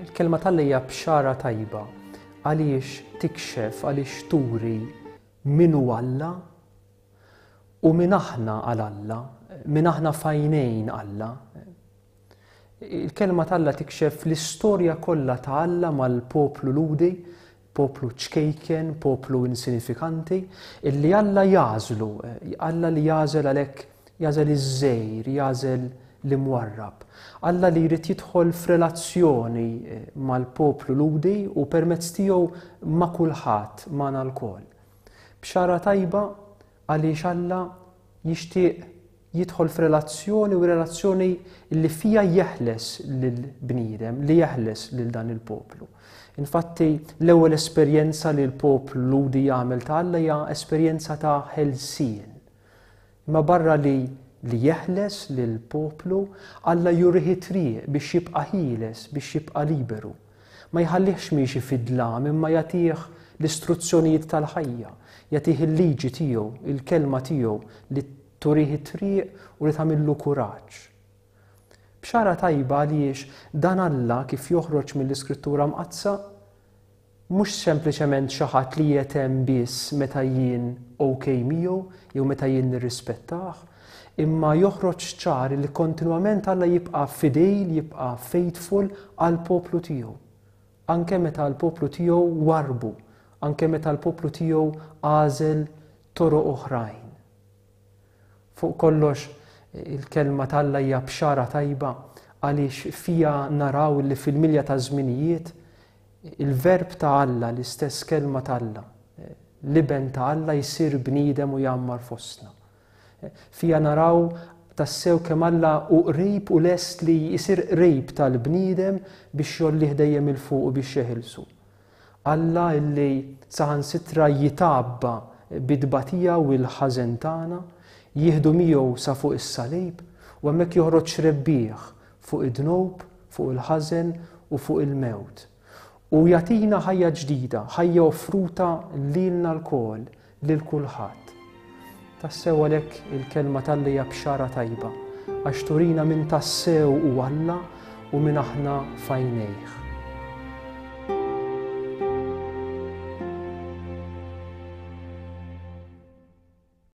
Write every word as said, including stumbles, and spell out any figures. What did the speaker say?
Il-kelma t'Alla hija bxara tajba għaliex tikxef, għaliex turi min hu Alla u min aħna għal Alla, min aħna f'għajnejn Alla. Il-kelma t'Alla tikxef l-istorja kollha ta' Alla mal-poplu Lhudi, poplu ċkejken, poplu insinifikanti, illi Alla jagħżlu, Alla li jagħżel għalhekk jagħżel iż-żgħir, jagħżel l-imwarrab. Alla li jrid jidħol f'relazzjoni eh, mal-poplu Lhudi u permezz tiegħu ma' kulħadd, magħna lkoll. Bxara tajba għaliex Alla jixtieq jidħol f'relazzjoni u relazzjoni li fija jeħles lill-bniedem, li jeħles lil dan il-poplu. Infatti, l-ewwel esperjenza li l-poplu Lhudi jagħmel ta' Alla hija esperjenza ta' ħelsien. Imma barra li li jeħles lil poplu, Alla jurih triq biex jibqa' ħieles, biex jibqa' liberu. Ma jħallihx miexi fid-dlam, imma jagħtih l-istruzzjonijiet tal-ħajja, jagħtih il-liġi tiegħu, il-kelma tiegħu li turih it-triq u li tagħmillu kuraġġ. Bxara tajba għaliex dan Alla kif joħroġ mill-Iskrittura Mqaddsa mhux sempliċement xi ħadd li jetem biss meta jien ok miegħu jew meta jien nirrispettah, imma joħroġ ċar li kontinwament Alla jibqa' fidil, jibqa' faithful għal poplu tiegħu. Anke meta l-poplu tiegħu warbu, anke meta l-poplu tiegħu għażel toroq oħrajn. Fuq kollox il-kelma t'Alla hija bxara tajba għaliex fija naraw li fil-milja ta' żminijiet il-verb ta' Alla, l-istess kelma ta' Alla, l-iben ta' Alla jsir bniedem u jgħammar fostna. Fija naraw tassew kemm Alla hu qrib u lest li jsir qrib tal-bniedem biex jgħollih dejjem 'il fuq u biex jeħilsu. Alla illi saħansitra jitgħabba bit-tbatija u l-ħażen tagħna, jieħdu miegħu sa fuq is-salib u hemmhekk joħroġ rebbieħ fuq id-dnub, fuq il-ħażen u fuq il-mewt. U jagħtina ħajja ġdida, ħajja offruta lilna lkoll, lil kulħadd. Tassew għalhekk il-kelma t'Alla hija bxara tajba, għax turina min tassew hu Alla u min aħna f'għajnejh.